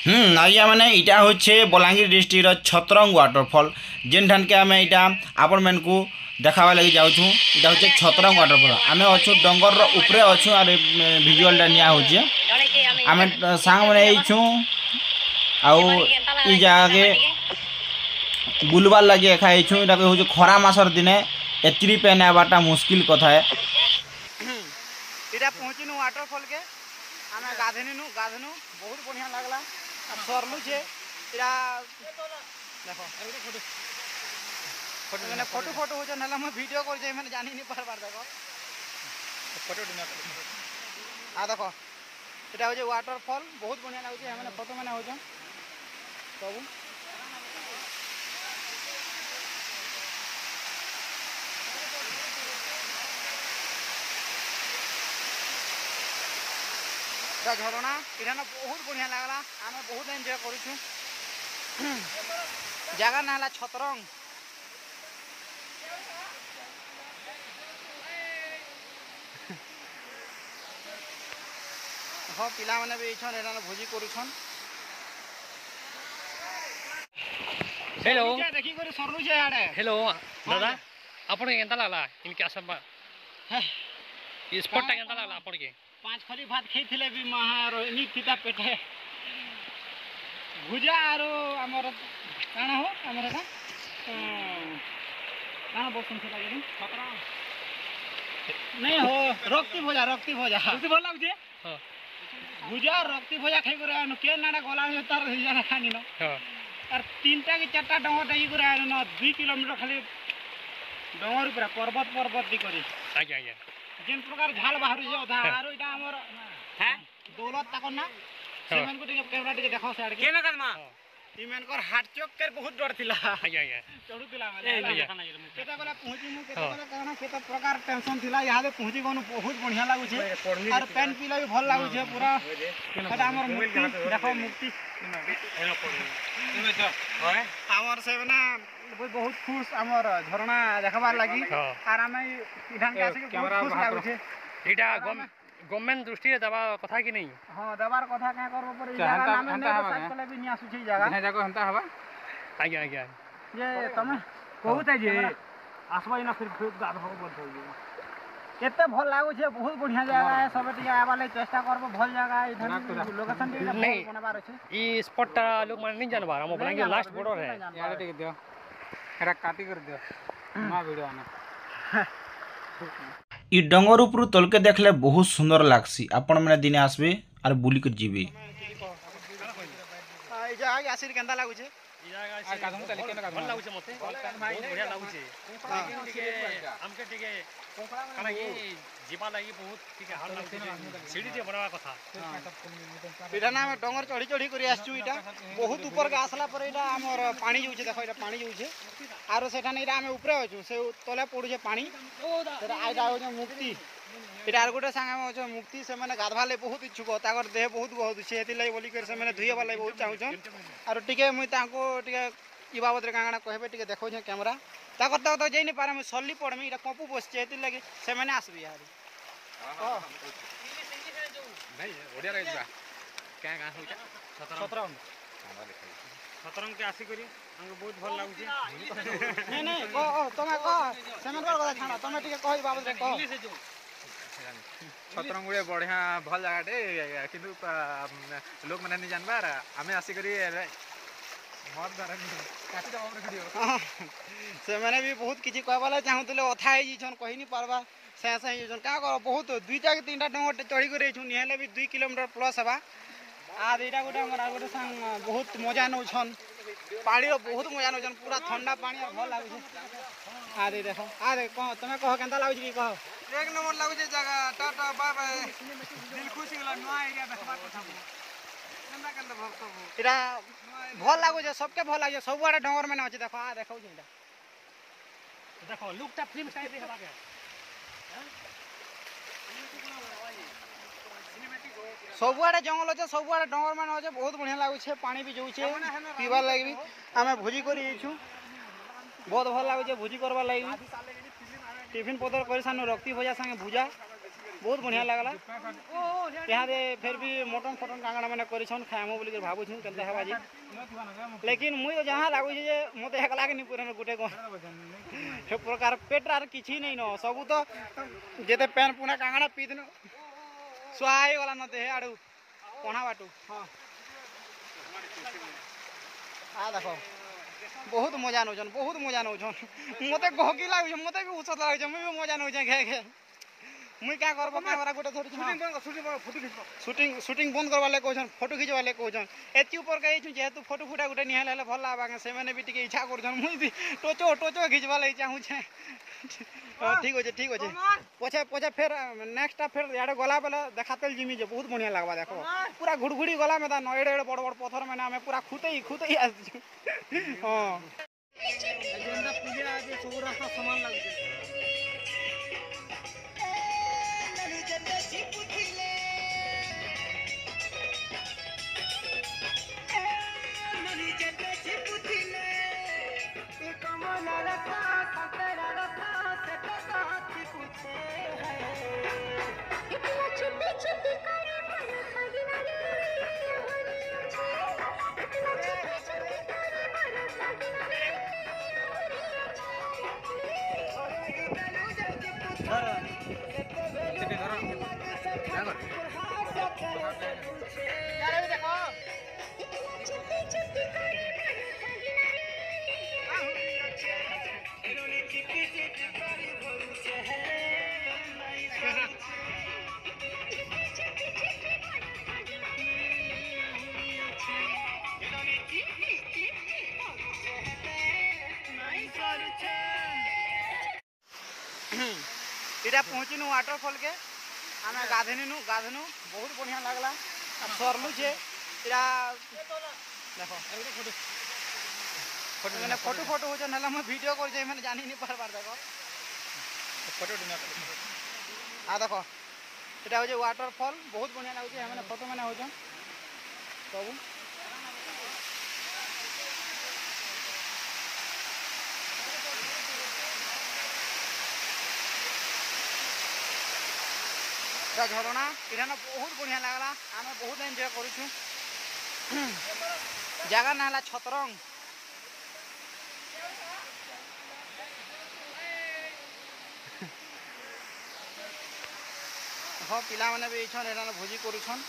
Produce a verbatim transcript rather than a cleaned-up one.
ହୁଁ, ଆଜ୍ଞା, ମାନେ, ଇଟା ହଉଛେ ବଲାଙ୍ଗୀର ଡିଷ୍ଟ୍ରିକ୍ଟର ଛତ୍ରଙ୍ଗ ୱାଟରଫଲ୍, ଯେନ୍ଠାନ୍କେ ଆମେ ଇଟା ଆପଣମାନଙ୍କୁ ଦେଖାବାର୍ ଲାଗି ଯାଉଛୁଁ। ଇଟା ହଉଛେ ଛତ୍ରଙ୍ଗ ୱାଟରଫଲ୍। ଆମେ ଅଛୁଁ ଡଙ୍ଗରର ଉପରେ ଅଛୁଁ, ଆର୍, ଏ, ଭିଜୁଆଲଟା ନିଆ ହଉଛେ। ଆମେ, ଅ, ସାଙ୍ଗମାନେ ଆଇଛୁଁ, ଆଉ ଇ ଜାଗାକେ ବୁଲବାର୍ ଲାଗି ଏକା ଆଇଛୁଁ। ଇଟା ହଉଛେ ଖରା ମାସର ଦିନେ ଏତ୍ରି ପେନ୍ ଆଇବାରଟା ମୁସ୍କିଲ କଥା ଏ। ଇଟା ପହଞ୍ଚିନୁ ୱାଟରଫଲ୍କେ, ଆମେ ଗାଧେଇନୁ, ଗାଧେଇନୁ। ବହୁତ ବଢ଼ିଆ ଲାଗଲା। ଆଉ ସରଲୁ ଯେ ଇଟା ଦେଖ, ଫଟୋ, ମାନେ, ଫଟୋ, ଫଟୋ ହଉଛନ୍, ହେଲେ ମୁଁ ଭିଡ଼ିଓ କରୁଛେ, ଏମାନେ ଜାଣି ନି ପାରବାର। ଦେଖ, ଫଟୋ ଉଠେଇ ନିଅ, ଫଟୋ। ଆ ଦେଖ, ଇଟା ହଉଛେ ୱାଟରଫଲ୍, ବହୁତ ବଢ଼ିଆ ଲାଗୁଛେ। ଏମାନେ ଫଟୋ ମାନେ ହଉଛନ୍ ସବୁ। ଇଟା ଝରଣା, ଇଠାନ ବହୁତ ବଢ଼ିଆ ଲାଗଲା। ଆମେ ବହୁତ ଏନ୍ଜୟ କରୁଛୁଁ। ଜାଗା ନାଁ ହେଲା ଛତ୍ରଙ୍ଗ। ହଁ, ପିଲାମାନେ ବି ଇଛନ୍, ଏଠାନେ ଭୋଜି କରୁଛନ୍। ହ୍ୟାଲୋ। ଦେଖିକରି ସରଲୁ ଯେ ଆଡ଼େ। ହ୍ୟାଲୋ, ଦାଦା, ଆପଣକେ କେନ୍ତା ଲାଗଲା ଇନକେ ଆସବା? ହେ। ଇ ସ୍ପଟଟା କେନ୍ତା ଲାଗଲା ଆପଣକେ? ପାଞ୍ଚ ଖଲି ଭାତ ଖାଇଥିଲେ ବି ମହା ର-, ନି ଥିତା ପେଟେ। ଭୁଜା ଆରୁ ଆମର କାଣା ହୋ, ଆମର ଏଟା, ଅଁ, କାଣା ବୋଲସନ୍ ସେଟା କି? ନାଇଁ ହୋ, ରକ୍ତି ଭଜା, ରକ୍ତି ଭଜା। ରକ୍ତି ଭଲ ଲାଗୁଛେ? ହଁ। ଭୁଜା, ରକ୍ତି ଭଜା ଖାଇକରି ଆନୁ, କେ ନାଡ଼ା ଗଲା ଯେ ତାର ଇଏ ନା ଖାନି ନ। ହଁ। ଆର୍ ତିନିଟା କି ଚାରିଟା ଡଙ୍ଗର ଡେଇକରି ଆନୁ ନ, ଦୁଇ କିଲୋମିଟର ଖାଲି ଡଙ୍ଗର ଉପରେ, ପର୍ବତ, ପର୍ବତ ଦେଇକରି। ଆଜ୍ଞା, ଆଜ୍ଞା। ଯେନ୍ ପ୍ରକାର ଝାଲ ବାହାରୁଛେ ଅଧା, ହଁ। ଆରୁ ଇଟା ଆମର, ହେଁ? ଦୌଲତ ତାକର ନା? ହଁ। ସେମାନଙ୍କୁ ଟିକେ କ୍ୟାମେରା ଟିକେ ଦେଖାଅ ସିଆଡ଼କେ। କେନ କାଦମା? ହଁ। ଇମାନଙ୍କର ହାର୍ଟ ଚୋକ୍ କରି ବହୁତ ଡର ଥିଲା। ଆଜ୍ଞା, ଆଜ୍ଞା। ଚଢ଼ୁଥିଲା ମାନେ, ଏ, ହେଲା। ଆଜ୍ଞା। କେତେବେଳେ ପହଞ୍ଚିମୁ, ହଁ। କେତେବେଳେ କାଣା, କେତେ ପ୍ରକାର ଟେନସନ ଥିଲା। ଇହାଦେ ପହଞ୍ଚି ଗଲୁ, ବହୁତ ବଢ଼ିଆ ଲାଗୁଛେ। ଆର୍ ପେନ୍ ପିଇଲେ ବି ଭଲ ଲାଗୁଛେ ପୁରା। ଏଟା ଆମର ମୂର୍ତ୍ତି, ଦେଖ ମୂର୍ତ୍ତି। ଆମର ସେମାନେ ବହୁତ ଖୁସ ଆମର ଝରଣା ଦେଖବାର ଲାଗି। ହଁ। ଆର୍ ଆମେ ଇଠାନକେ ଏ, ଆସିକି ବହୁତ କ୍ୟାମେରା ଖୁସ ବାହାର କର। ଲାଗୁଛେ। ଏଇଟା ଆର୍ ଗମ-, ଆମେ ଗଭର୍ଣ୍ଣମେଣ୍ଟ ଦୃଷ୍ଟିରେ ଦେବା କଥା କି ନାଇଁ? ହଁ, ଦେବାର କଥା। କାଁ କରବ ପରେ ଇ ଚାହେଁ ଜାଗା ତା-, ଆମେ ହେନ୍ତା ନେଲେ ହବା ସାର୍ଚ୍ଚ କାଁ? କଲେ ବି ନି ଆସୁଛେ ଇ ଜାଗା। ଯାହା ଯାକ ହେନ୍ତା ହବା। ଆଜ୍ଞା, ଆଜ୍ଞା। ଯେ ତମେ କହୁଛେ ଯେ କ୍ୟାମେରା। ଆସବ ଇନା ଫିର, ଫିର ଗାଧବ ବନ୍ଦ ହେଇଯିବ। କେତେ ଭଲ ଲାଗୁଛେ, ବହୁତ ବଢ଼ିଆ ଜାଗା। ତମର ସବେ ଟିକେ ଆଇବାର ଲାଗି ଚେଷ୍ଟା କରବ, ଭଲ ଜାଗା। ଏଇଠାରୁ ନା, ପୁରା। ଲୋକେସନ ଟିକେ ନାଇଁ, ଭଲ ବନାବାର ଅଛି। ଇ ସ୍ପଟଟା ଲୋକମାନେ ନାଇଁ ଜାନବାର, ଆମ ନାଇଁ ବଲାଙ୍ଗୀର ଜାନବାର, ଲାଷ୍ଟ ବର୍ଡର ବିଲକୁଲ ହେ। ନାଇଁ ଜାନବାର। ଇଆଡ଼େ ଟିକେ ଦିଅ, ଏଟା କାଟି କରି ଦିଅ। ନୂଆ ଭିଡ଼ିଓ ଆନେ। ଇ ଡଙ୍ଗର ଉପରୁ ତଲକେ ଦେଖଲେ ବହୁତ ସୁନ୍ଦର ଲାଗ୍ସି। ଆପଣମାନେ ଦିନେ ଆସବେ ଆର୍ ବୁଲିକରି ଯିବେ। ଇ ଜାଗା ଆସିକରି କେନ୍ତା ଲାଗୁଛେ? ଇ ଜାଗା ଆର୍ କାଦୁନ ଚାଲି, କେନ କାଦୁନ? ଭଲ ଲାଗୁଛେ ମତେ। ବହୁତ ବଢ଼ିଆ ଲାଗୁଛେ। ହଁ। ଲେକିନ ଟିକେ, ଆମକେ ଟିକେ, କାଣା କି, ଯିବା ଲାଗି ବହୁତ ଟିକେ ହାର୍ଡ ଲାଗୁଛେ। ସିଡ଼ି ଟିକେ ବନାବା କଥା। ଇଟା ନା ଆମେ ଡଙ୍ଗର ଚଢ଼ି ଚଢ଼ି କରି ଆସିଛୁ। ଇଟା ବହୁତ ଉପରକେ ଆସିଲା ପରେ ଇଟା ଆମର ପାଣି ଯାଉଛେ। ଦେଖ, ଇଟା ପାଣି ଯାଉଛେ। ଆରୁ ସେଠାନେ ଇଟା ଆମେ ଉପରେ ଅଛୁ, ସେ ତଲେ ପଡ଼ୁଛେ ପାଣି। ସେଟା, ଏଇଟା ହଉଛେ ମୂର୍ତ୍ତି। ଇଟା ଆର୍ ଗୋଟେ ସାଙ୍ଗ ଆମେ ଅଛନ୍ ମୂର୍ତ୍ତି, ସେମାନେ ଗାଧବାର ଲାଗି ବହୁତ ଇଚ୍ଛୁକ, ତାଙ୍କର ଦେହ ବହୁତ ଗହଦୁଛେ, ହେଥିର୍ଲାଗି ବୋଲିକରି ସେମାନେ ଧୁଇହେବାର ଲାଗି ବହୁତ ଚାହୁଁଛନ୍। ଆରୁ ଟିକେ ମୁଇଁ ତାଙ୍କୁ ଟିକେ ଇ ବାବଦରେ କାଣା କାଣା କହିବେ ଟିକେ ଦେଖଉଛେଁ କ୍ୟାମେରା। ତାଙ୍କର ତ, ତ ଯାଇ ନି ପାରେ, ମୁଇଁ ସର୍ଲି ପଡ଼୍ମି, ଇଟା କପୁ ବସିଛେ, ହେଥିର୍ଲାଗି ସେମାନେ ଆସବେ ଇହାଦେ। ହଁ, ହଁ, କହ। ହଁ, ହଁ, ନାଇଁ, ଓଡ଼ିଆରେ ଯିବା। କାଁ, କାଁ ହଉଛେ? ଛତରଙ୍ଗ। ଛତରଙ୍ଗ। ଛତରଙ୍ଗ କେ ଆସିକରି ଆମକୁ ବହୁତ ଭଲ ଲାଗୁଛି। ନାଇଁ, ନାଇଁ, କହ, କହ, ତମେ କହ। ସେମାନଙ୍କର କଥା ଛାଡ଼, ତମେ ଟିକେ କହ, ଇ ବାବଦରେ କହ। ଇଂଲିଶରେ ଯୋଉ। ଛତରଙ୍ଗ ଗୋଟେ ବଢ଼ିଆ, ଭଲ ଜାଗାଟେ, କିନ୍ତୁ, ଆ, ଲୋକମାନେ ନି ଜାନବାର, ଆମେ ଆସିକରି ଏବେ ମଦ ଧରନି, କାଟିଦେବ ଆମର ଭିଡ଼ିଓ। ହଁ, ସେମାନେ ବି ବହୁତ କିଛି କହିବାର ଲାଗି ଚାହୁଁଥିଲେ, ଅଥା ହେଇଯାଇଛନ୍, କହି ନି ପାରବା। ସେ, ସେ ହେଇଯାଉଛନ୍। କାଁ କର, ବହୁତ ଦୁଇଟା କି ତିନିଟା ଡଙ୍ଗର ଟେ ଚଢ଼ିକରି ଯାଇଛୁଁ, ନି ହେଲେ ବି ଦୁଇ କିଲୋମିଟର ପ୍ଲସ୍ ହେବା। ଆର୍ ଏଇଟା ଗୋଟେ ଆମର ଆଉ ଗୋଟେ ସାଙ୍ଗ ବହୁତ ମଜା ନଉଛନ୍, ପାଣିର ବହୁତ ମଜା ନଉଛନ୍, ପୁରା ଥଣ୍ଡା ପାଣି ଆଉ ଭଲ ଲାଗୁଛେ। ଆରେ ଦେଖ, ଆରେ କହ, ତମେ କହ, କେନ୍ତା ଲାଗୁଛି କି କହ? ଏକ ନମ୍ବର ଲାଗୁଛେ ଜାଗା, ଟାଟା ବାଏ ବାଏ, ଦିଲ ଖୁସି ହେଇଗଲା, ନୂଆ ଏରିଆ ଦେଖବାର କଥା। କେନ୍ତା କେନ୍ତା ଭଲ ସବୁ। ଏଇଟା ଭଲ ଲାଗୁଛେ, ସବକେ ଭଲ ଲାଗୁଛେ, ସବୁଆଡ଼େ ଡଙ୍ଗର ମାନେ ଅଛେ, ଦେଖ, ଆ ଦେଖଉଛେ ଏଇଟା। ଦେଖ, ଲୁକ୍ଟା ଫିଲ୍ମ ଷ୍ଟାଇଲରେ ହେବାକେ। ସବୁଆଡ଼େ ଜଙ୍ଗଲ ଅଛେ, ସବୁଆଡ଼େ ଡଙ୍ଗର ମାନେ ଅଛେ, ବହୁତ ବଢ଼ିଆ ଲାଗୁଛେ, ପାଣି ବି ଯାଉଛେ, ପିଇବାର ଲାଗି ବି। ଆମେ ଭୋଜି କରି ଯାଇଛୁ, ବହୁତ ଭଲ ଲାଗୁଛେ ଭୋଜି କରବାର ଲାଗି ବି। ଟିଫିନ ପତର କରି ସାରନୁ, ରକ୍ତି ଭଜା ସାଙ୍ଗେ ଭୁଜା। ବହୁତ ବଢିଆ ଲାଗଲା। ଇହାଦେ ଫେର ବି ମଟନ ଫଟନ କାଣା କାଣା ମାନେ କରିଛନ୍, ଖାଏମୁ ବୋଲିକରି ଭାବୁଛୁଁ, କେନ୍ତା ହେବା ଯେ। ଲେକିନ ମୁଇଁ ତ ଯାହା ଲାଗୁଛେ ଯେ ମତେ ଏକଲା କେ ନି ପୁରେନ ଗୁଟେ କ-, ହେ ପ୍ରକାର ପେଟରେ ଆର କିଛି ନାଇଁ ନ, ସବୁ ତ ଯେତେ ପେନ୍ ପୁନା କାଣା କାଣା ପିଇଥିନୁ, ସୁଆ ହେଇଗଲା ନ ଦେହ ଆଡୁ। ପଣା ବାଟୁ, ହଁ। ଆ ଦେଖ, ବହୁତ ମଜା ନଉଛନ୍, ବହୁତ ମଜା ନଉଛନ୍। ମତେ ଗହକି ଲାଗୁଛେ, ମତେ ବି ଉସତ ଲାଗୁଛେ, ମୁଇଁ ବି ମଜା ନଉଛେ, ଘେ, ଘେ। ମୁଇଁ କାଁ କରବ, କ୍ୟାମେରା ଗୋଟେ ଧରିଛେ, ହଁ। ସୁଟିଂ ବନ୍ଦ କର, ଫଟୋ ଖିଚବ। ସୁଟିଂ, ସୁଟିଂ ବନ୍ଦ କରବାର୍ ଲାଗି କହୁଛନ୍, ଫଟୋ ଖିଚବାର୍ ଲାଗି କହୁଛନ୍। ଏତ୍କି ଉପର କେ ଯାଇଛୁଁ, ଯେହେତୁ ଫଟୋ ଫୁଟା ଗୋଟେ ନିହାଲ ହେଲେ ଭଲ ଲାଗ୍ବା, ସେମାନେ ବି ଟିକେ ଇଚ୍ଛା କରୁଛନ୍। ମୁଇଁ ବି ଟୋଚ, ଟୋଚ ଖିଚବାର୍ ଲାଗି ଚାହୁଁଛେ। ହଁ, ଠିକ୍ ଅଛେ, ଠିକ୍ ଅଛେ। ପଛେ, ପଛେ ଫେର, ନେକ୍ସଟ ଟା ଫେର ଇଆଡେ ଗଲା ବେଲେ ଦେଖାତେଲ ଜିମି ଯେ, ବହୁତ ବଢିଆ ଲାଗ୍ବା, ଦେଖ। ପୁରା ଘୁଡଘୁଡି ଗଲା ମେଦା ନ, ଏଡେ ଏଡେ ବଡ ବଡ ପଥର ମାନେ ଆମେ ପୁରା ଖୁତେଇ, ଖୁତେଇ ଆସିଛୁ। ହଁ। ଯେନ୍ତା ପୁଲିଆ ଆଜି ସବୁ ରାସ୍ତା ସମାନ ଲାଗୁଛେ। ଇଟା ପହଞ୍ଚିନୁ ୱାଟରଫଲ କେ, ଆମେ ଗାଧେଇନୁ, ଗାଧେଇନୁ, ବହୁତ ବଢିଆ ଲାଗଲା। ଆଉ ସରଲୁ ଯେ, ଇଟା ଦେଖ, ଫଟୋ ମାନେ ଫଟୋ ଫଟୋ ହଉଛନ୍, ହେଲେ ମୁଁ ଭିଡିଓ କରୁଛେ, ମାନେ ଜାଣି ନି ପାରବାର, ଦେଖ। ଫଟୋ ଉଠେଇ ନିଅ। ଆ ଦେଖ, ଇଟା ହଉଛେ ୱାଟରଫଲ, ବହୁତ ବଢିଆ ଲାଗୁଛେ, ଏମାନେ ଫଟୋ ମାନେ ହଉଛନ୍ ସବୁ। ଇଟା ଝରଣା, ଇଠାନ ବହୁତ ବଢିଆ ଲାଗଲା, ଆମେ ବହୁତ ଏନ୍ଜୟ କରୁଛୁ। ଜାଗା ନା ହେଲା ଛତରଙ୍ଗ। ହଁ, ପିଲାମାନେ ବି ଇଛନ୍, ଏଠାନ ଭୋଜି କରୁଛନ୍।